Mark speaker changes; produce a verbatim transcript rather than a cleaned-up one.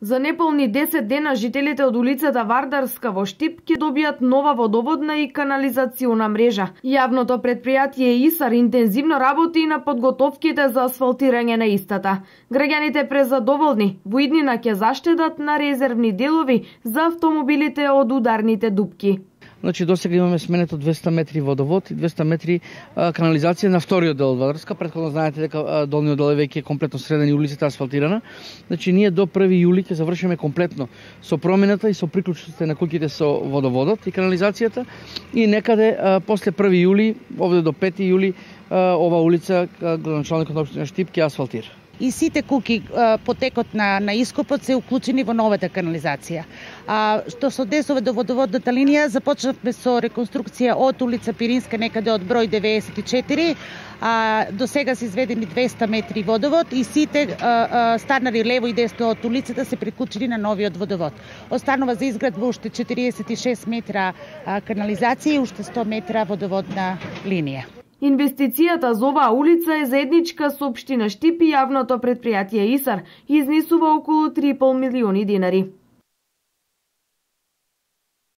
Speaker 1: За неполни десет дена жителите од улицата Вардарска во Штип ќе добијат нова водоводна и канализациона мрежа. Јавното претпријатие ИСАР интензивно работи на подготовките за асфалтирање на истата. Граѓаните презадоволни во иднина ќе заштедат на резервни делови за автомобилите од ударните дупки.
Speaker 2: Значи, досега имаме сменето двесте метри водовод и двесте метри а, канализација на вториот дел од Вардарска. Претходно знаете дека а, долниот дел е веќе комплетно среден и улицата асфалтирана. Значи, ние до први јули ќе завршиме комплетно со промената и со приклучиците на куќите со водоводот и канализацијата. И некаде а, после први јули, овде до пети јули, а, ова улица, градоначалникот на општина Штип ќе асфалтира.
Speaker 3: И сите куки потекот на, на ископот се уклучени во новата канализација. А, што се однесува до водоводната линија, започнавме со реконструкција од улица Пиринска некаде од број деветдесет и четири, а, до сега се изведени двесте метри водовод и сите а, а, станари лево и десно од улицата се приклучени на новиот водовод. Останува за изградба уште четириесет и шест метра а, канализација и уште сто метра водоводна линија.
Speaker 1: Инвестицијата за оваа улица е заедничка со општина Штип и јавното претпријатие ИСАР и изнесува околу три и пол милиони динари.